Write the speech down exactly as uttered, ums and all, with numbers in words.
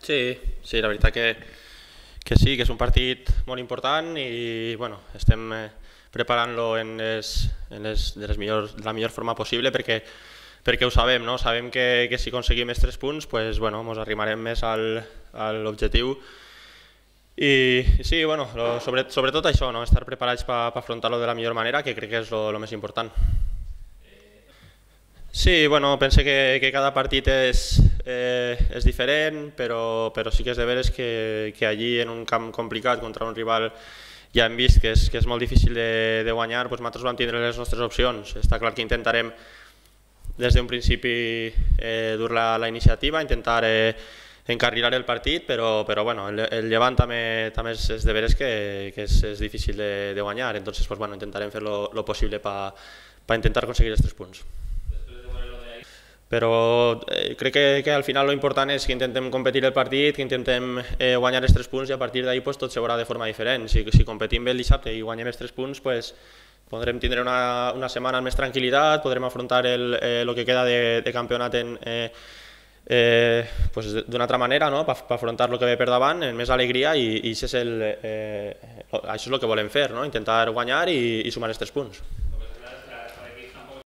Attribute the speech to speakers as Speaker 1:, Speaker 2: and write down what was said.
Speaker 1: Sí, sí, la veritat que, que sí, que és un partit molt important i bueno, estem eh, preparant-lo en les, en les, de, les millors, de la millor forma possible perquè, perquè ho sabem, no? Sabem que, que si aconseguim els tres punts pues, bueno, ens arrimarem més al, a l'objectiu i sí, bueno, lo, sobre, sobretot això, no? Estar preparats per pa, pa afrontar-lo de la millor manera, que crec que és el més important. Sí, bueno, pense que, que cada partit és, eh, és diferent, però, però sí que és de veres que, que allí en un camp complicat contra un rival ja hem vist que és, que és molt difícil de, de guanyar, doncs nosaltres vam tindre les nostres opcions. Està clar que intentarem des d'un principi eh, dur la, la iniciativa, intentar eh, encarrilar el partit, però, però bueno, el, el Llevant també, també és, és de veres que, que és, és difícil de, de guanyar, entonces pues, bueno, intentarem fer lo possible per pa intentar aconseguir els tres punts. Però eh, crec que, que al final lo important és que intentem competir el partit, que intentem eh, guanyar els tres punts i a partir d'ahir pues, tot se veurà de forma diferent. Si, si competim bé el dissabte i guanyem els tres punts, pues, podrem tindre una, una setmana amb més tranquil·litat, podrem afrontar el eh, lo que queda de, de campionat en, eh, eh, pues, d'una altra manera, no? Per pa afrontar el que ve per davant, amb més alegria i, i això, és el, eh, això és el que volem fer, no? Intentar guanyar i, i sumar els tres punts.